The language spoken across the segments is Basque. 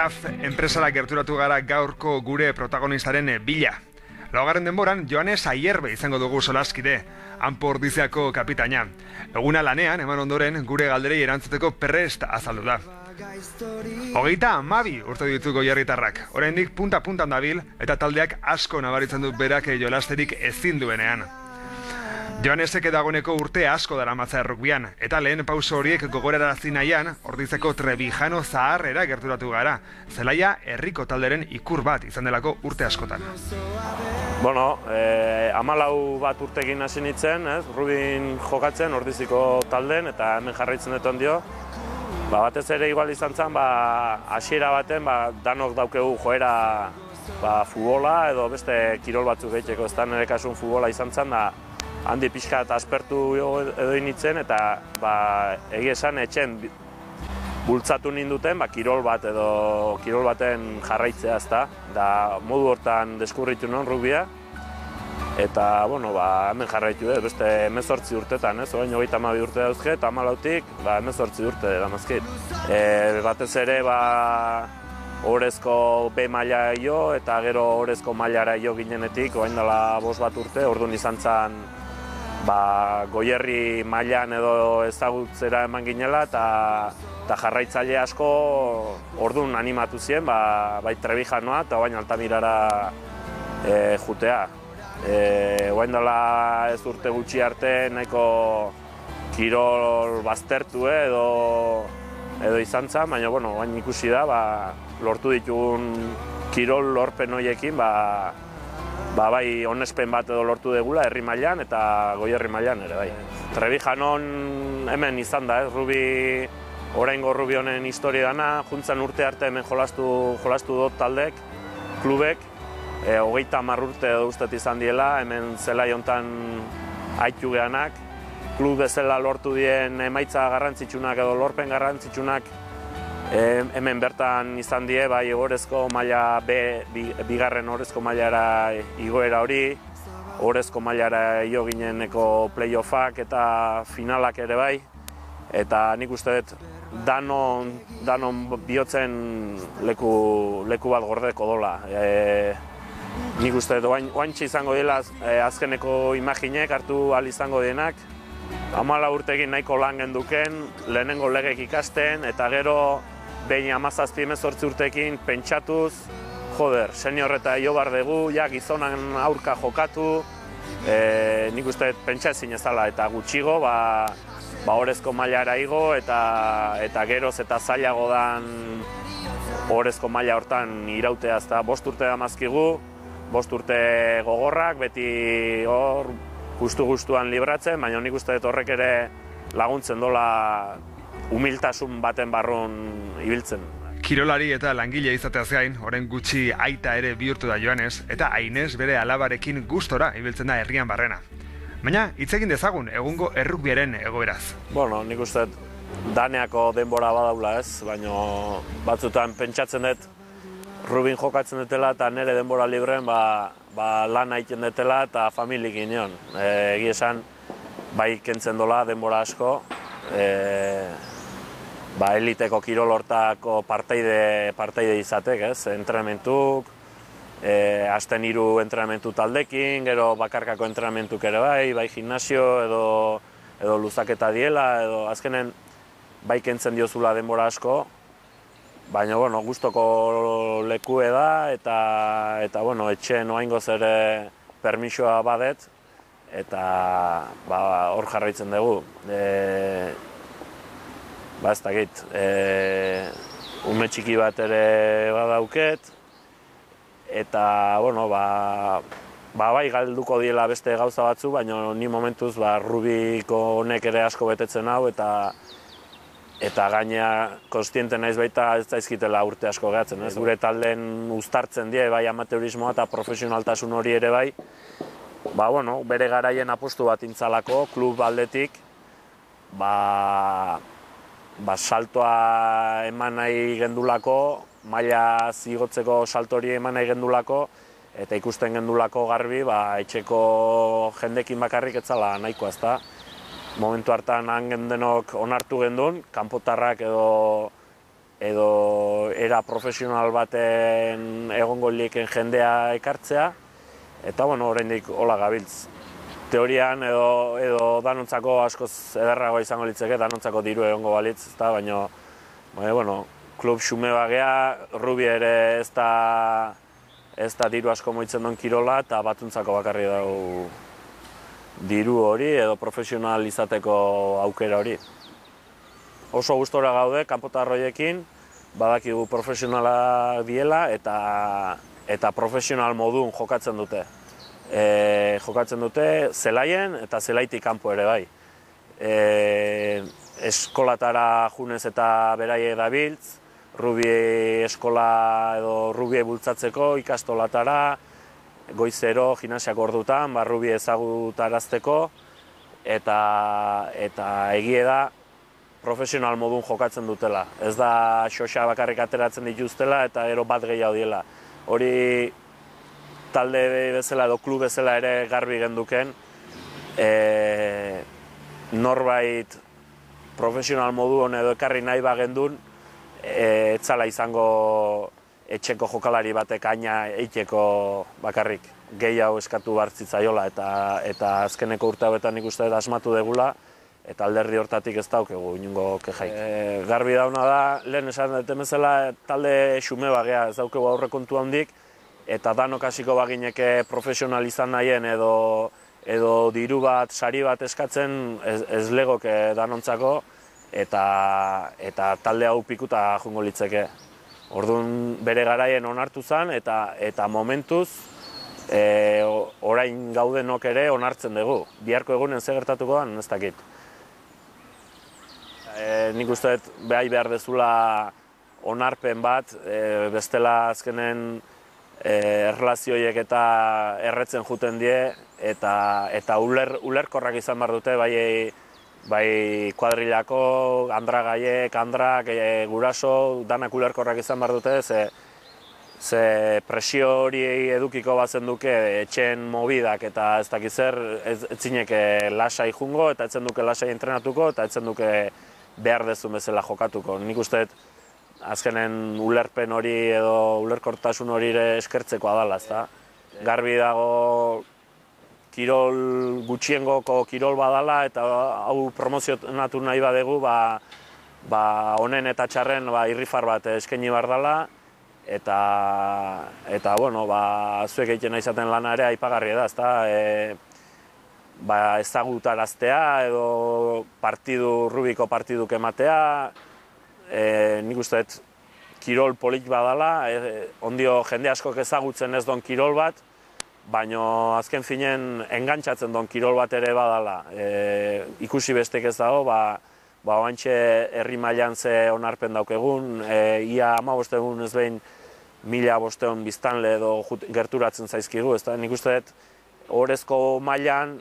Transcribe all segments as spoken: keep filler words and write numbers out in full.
C A F enpresara gerturatu gara gaurko gure protagonistaren bila. Laugarren denboran, Joanes Aierbe izango dugu solaskide, Anpo Ordiziako kapitaina. Eguna lanean, eman ondoren, gure galderei erantzuteko prest azaldu da. Hogeita hamabi urte ditu goierritarrak, oraindik punta-puntan dabil eta taldeak asko nabaritzen du berak jolasterik ezin duenean. Joanesek dagoeneko urte asko daramatza errukbian, eta lehen pauso horiek gogorarazi nahian, Ordizeko Trebijano zaharrera gerturatu gara, zelaia herriko talderen ikur bat izan delako urte askotan. Bueno, eh, amalau bat urtekin hasi nintzen, ez? Rubin jokatzen Ordiziko talden, eta hemen jarraitzen dut ondio. Ba, batez ere igual izan zen, ba, hasiera baten, ba, danok daukegu joera ba, futbola, edo beste kirol batzuk egiteko, ez da nire kasun futbola izan zen, da, handi pixka eta aspertu edo initzen, eta ba, egia esan etxen bultzatu ninduten ba, kirol bat edo kirol baten jarraitzea, ezta. Da, modu hortan deskurritu non rugbia, eta bueno, ba, hemen jarraitu dut, beste hemezortzi urtetan, ez? Orain hogeita hamabi urte dauzke, eta hamalautik ba, hemezortzi urte damazkit. E, batez ere, ba, Orezko B maila jo, eta gero Orezko mailara jo ginenetik, orain dela bost bat urte, orduan izan zen ba, Goierri mailan edo ezagutzera eman ginela, eta eta jarraitzaile asko orduan animatu ziren, ba, bai Trebijanoa eta baina Altamirara e, jutea. E, orain dela ez urte gutxi arte nahiko kirol baztertu edo edo izan zen, baina bueno, baina ikusi da, ba, lortu ditugun kirol lorpen horiekin, ba, ba, bai onespen bat edo lortu degula herri mailan eta Goierri mailan ere bai. Trebijanon hemen izan da, ez, Rubi, oraingo Rubi honen historia dana, juntzan urte arte hemen jolastu, jolastu dut taldek, klubek, e, hogeita hamar urte edo ustet izan diela, hemen zelai hontan aitu geanak, klub bezala lortu dien emaitza garrantzitsunak edo lorpen garrantzitsunak e, hemen bertan izan die, bai Orezko maila B, bi, bigarren Orezko mailara igoera hori, Orezko mailara jo gineneko playoffak eta finalak ere bai, eta nik uste dut danon, danon bihotzen leku, leku bat gordeko dola. E, nik uste dut oaintxe izango dela e, azkeneko imaginek hartu ahal izango dienak, hamala urtekin nahiko lan genduken, lehenengo legek ikasten, eta gero behin hamazazpi hemezortzi urtekin pentsatuz, joder, senior eta jo bar dugu, ja gizonan aurka jokatu, e, nik uste pentsa ezin ez dela, eta gutxigo, ba, ba Orezko mailara igo, eta, eta geroz eta zailago dan Orezko maila hortan irautea, ezta bost urte damazkigu, bost urte gogorrak, beti hor, gustu-gustuan libratzen, baina nik uste dut horrek ere laguntzen dola humiltasun baten barrun ibiltzen. Kirolari eta langile izateaz gain, orain gutxi aita ere bihurtu da Joanes, eta Ainez bere alabarekin gustora ibiltzen da herrian barrena. Baina, hitz egin dezagun egungo errukbiaren egoeraz. Bueno, nik uste dut daneako denbora badaula ez, baina batzutan pentsatzen dut Rubin jokatzen dutela eta nire denbora libren ba, ba lan egiten dutela eta familik inion. E, egi esan, bai kentzen dola denbora asko, e, ba eliteko kirol hortako parteide, parteide izatek, ez, entrenamentuk, e, asten hiru entrenamentu taldekin, gero bakarkako entrenamentuk ere bai, bai gimnasio edo, edo luzaketa diela, edo azkenen bai kentzen diozula denbora asko, baina, bueno, gustoko lekue da, eta, eta bueno, etxen oaingoz ere permisoa badet, eta ba, hor jarraitzen dugu. E, ba, ez dakit, e, ume txiki bat ere badauket, eta, bueno, ba, ba, bai galduko diela beste gauza batzu, baina ni momentuz ba, Rubiko honek ere asko betetzen hau, eta eta gainea konstiente naiz baita ez daizkitela urte asko gehatzen, ez? Gure talden uztartzen die, bai amateurismoa eta profesionaltasun hori ere bai, ba, bueno, bere garaien apostu bat intzalako, klub aldetik, ba, ba, saltoa eman nahi gendulako, maila zigotzeko salto hori eman nahi gendulako, eta ikusten gendulako garbi, ba, etxeko jendekin bakarrik etzala nahikoa, ezta? Momentu hartan han gendenok onartu gendun, kanpotarrak edo edo era profesional baten egongo liken jendea ekartzea, eta bueno, oraindik hola gabiltz. Teorian edo, edo danontzako askoz ederragoa izango litzeke, danontzako diru egongo balitz, ezta, baina bueno, klub xume bagea, Rubi ere ez da, ez da diru asko moitzen duen kirola, eta batuntzako bakarri dago diru hori edo profesional izateko aukera hori. Oso gustora gaude, kanpotarroiekin, badakigu profesionala diela eta, eta profesional modun jokatzen dute. E, jokatzen dute zelaien eta zelaitik kanpo ere bai. E, eskolatara junez eta beraiek dabiltz, Rubi eskola edo Rubi bultzatzeko ikastolatara, goizero, gimnasiak ordutan, ba, Rubi ezagutarazteko, eta, eta egie da profesional modun jokatzen dutela. Ez da xoxa bakarrik ateratzen dituztela eta gero bat gehiago diela. Hori talde bezala edo klub bezala ere garbi genduken, e, norbait profesional modun edo ekarri nahi bagendun, e, etzala izango etxeko jokalari batek aina eiteko bakarrik gehiago eskatu bartzitzaiola eta, eta azkeneko urte hauetan ikuste dut asmatu degula, eta alderdi hortatik ez daukegu inungo kejaik. E, garbi dauna da, lehen esan dut bezala talde xume bagea, ez daukegu aurrekontu handik, eta danok hasiko bagineke profesional izan nahien edo, edo diru bat, sari bat eskatzen ez, ez legoke danontzako, eta, eta talde hau pikuta jungo litzeke. Orduan bere garaien onartu zen, eta, eta momentuz e, orain gaudenok ere onartzen dugu. Biharko egunen ze gertatuko da, ez dakit. E, nik uste dut behai behar dezula onarpen bat, e, bestela azkenen e, erlazioiek eta erretzen juten die, eta, eta uler, ulerkorrak izan behar dute, bai, bai kuadrilako, andragaiek, andrak, e, guraso, danak ulerkorrak izan behar dute, ze, ze presio hori edukiko bazen duke etxen mobidak eta ez dakiz zer, ez, ez zineke lasai jungo, eta etzen duke lasai entrenatuko, eta etzen duke behar dezun bezala jokatuko. Nik uste azkenen ulerpen hori edo ulerkortasun hori ere eskertzeko adala, ezta. Garbi dago kirol gutxiengoko kirol badala eta hau promozionatu nahi badegu, ba, ba honen eta txarren ba, irrifar bat eskaini behar dela, eta, eta bueno, ba, zuek egiten izaten lana ere aipagarria da, ezta. E, ba, ezagutaraztea edo partidu, Rubiko partiduk ematea, e, nik uste dut kirol polit badala, e, ondio jende askok ezagutzen ez don kirol bat, baina azken finen engantzatzen don kirol bat ere badala. E, ikusi bestek ez dago, ba, ba oantxe herri mailan ze onarpen daukegun, e, ia ama bostegun ez behin mila bosteun biztanle edo gerturatzen zaizkigu, ez da? Nik uste dut orezko mailan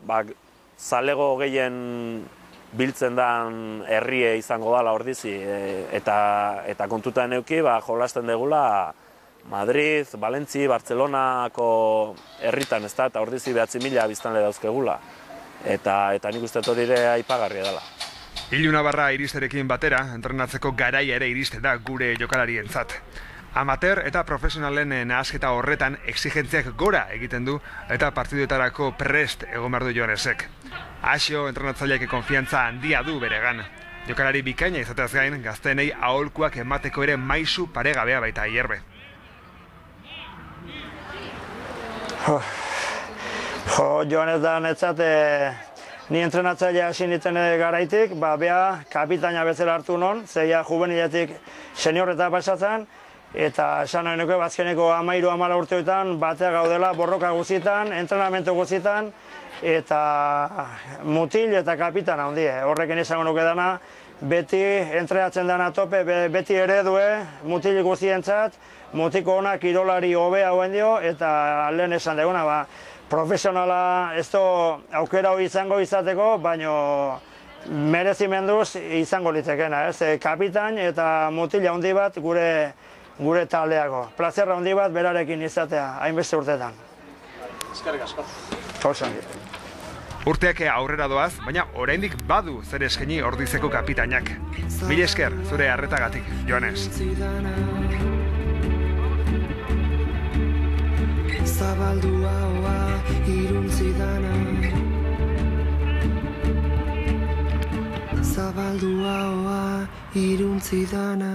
ba, zalego gehien biltzen den herrie izango dala ordizi, e, eta, eta kontutan euki ba, jolasten degula Madrid, Valentzi, Bartzelonako herritan, ez da, eta ordizi behatzi mila biztanle dauzkegula. Eta, eta nik uste hori ere aipagarria dela. Iluna barra iristerekin batera, entrenatzeko garaia ere iriste da gure jokalarientzat. Amateur eta profesionalen nahasketa horretan exigentziak gora egiten du eta partiduetarako prest egon behar du Joanesek. Asio entrenatzaileak konfiantza handia du beregan. Jokalari bikaina izateaz gain, gazteenei aholkuak emateko ere maisu paregabea baita Ayerbe. Jo, jo Joanes da netzat, e, ni entrenatzailea hasi nintzen garaitik, ba, bea kapitaina bezala hartu non, zeia juveniletik seniorreta pasatzen, eta esan nahi nuke bazkeneko amairu amala urteotan batea gaudela borroka guzietan, entrenamentu guzietan, eta mutil eta kapitana handie. Horrekin izango nuke dana, beti entrenatzen dana tope, beti eredue, mutil guzientzat, mutiko ona kirolari hobea hauen dio, eta lehen esan deguna, ba, profesionala ez du aukera hori izango izateko, baino merezimenduz izango litekena, ez? Kapitain eta mutil handi bat gure gure taldeako. Plazerra handi bat berarekin izatea, hainbeste urtetan. Eskerrik asko. Oso. Urteak aurrera doaz, baina oraindik badu zer eskaini Ordizeko kapitainak. Mila esker, zure harretagatik, Joanes. Zabaldua hoa iruntzi dana, zabaldua hoa iruntzi dana.